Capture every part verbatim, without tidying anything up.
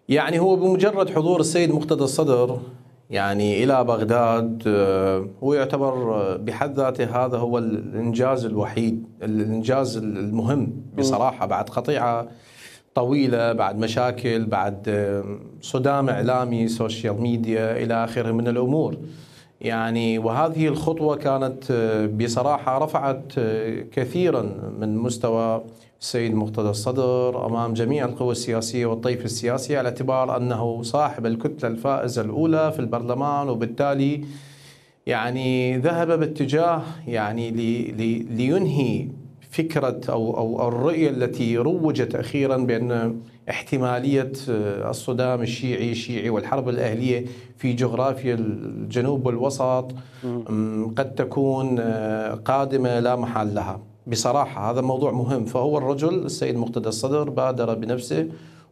يعني هو بمجرد حضور السيد مقتدى الصدر يعني إلى بغداد هو يعتبر بحد ذاته هذا هو الإنجاز الوحيد، الإنجاز المهم بصراحة، بعد قطيعة طويلة، بعد مشاكل، بعد صدام إعلامي، سوشيال ميديا إلى آخره من الأمور. يعني وهذه الخطوة كانت بصراحة رفعت كثيرا من مستوى السيد مقتدى الصدر أمام جميع القوى السياسية والطيف السياسي، على اعتبار أنه صاحب الكتلة الفائزة الأولى في البرلمان، وبالتالي يعني ذهب باتجاه يعني لي لي لينهي فكرة أو أو الرؤية التي روجت أخيرا بأن احتمالية الصدام الشيعي الشيعي والحرب الأهلية في جغرافيا الجنوب والوسط قد تكون قادمة لا محال لها. بصراحة هذا موضوع مهم. فهو الرجل السيد مقتدى الصدر بادر بنفسه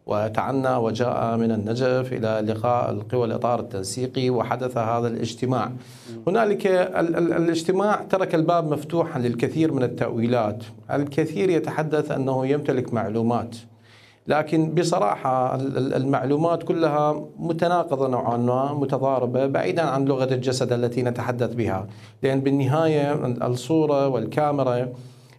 وتعنى وجاء من النجف إلى لقاء القوى الإطار التنسيقي، وحدث هذا الاجتماع. هنالك ال ال الاجتماع ترك الباب مفتوحا للكثير من التأويلات. الكثير يتحدث أنه يمتلك معلومات، لكن بصراحة المعلومات كلها متناقضة نوعا ما، متضاربة، بعيدا عن لغة الجسد التي نتحدث بها. لأن بالنهاية الصورة والكاميرا،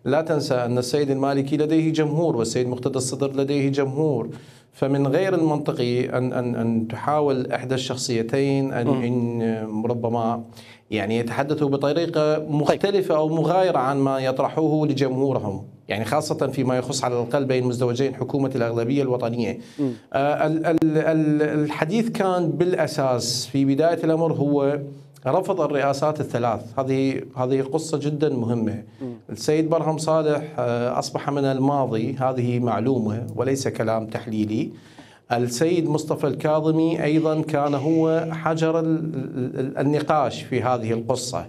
لا تنسى أن السيد المالكي لديه جمهور والسيد مقتدى الصدر لديه جمهور، فمن غير المنطقي أن أن أن تحاول إحدى الشخصيتين أن, أن ربما يعني يتحدثوا بطريقة مختلفة أو مغايرة عن ما يطرحوه لجمهورهم، يعني خاصة فيما يخص على الأقل بين مزدوجين حكومة الأغلبية الوطنية. آه الحديث كان بالأساس في بداية الأمر هو رفض الرئاسات الثلاث. هذه هذه قصة جدا مهمة. السيد برهم صالح أصبح من الماضي، هذه معلومة وليس كلام تحليلي. السيد مصطفى الكاظمي أيضا كان هو حجر النقاش في هذه القصة.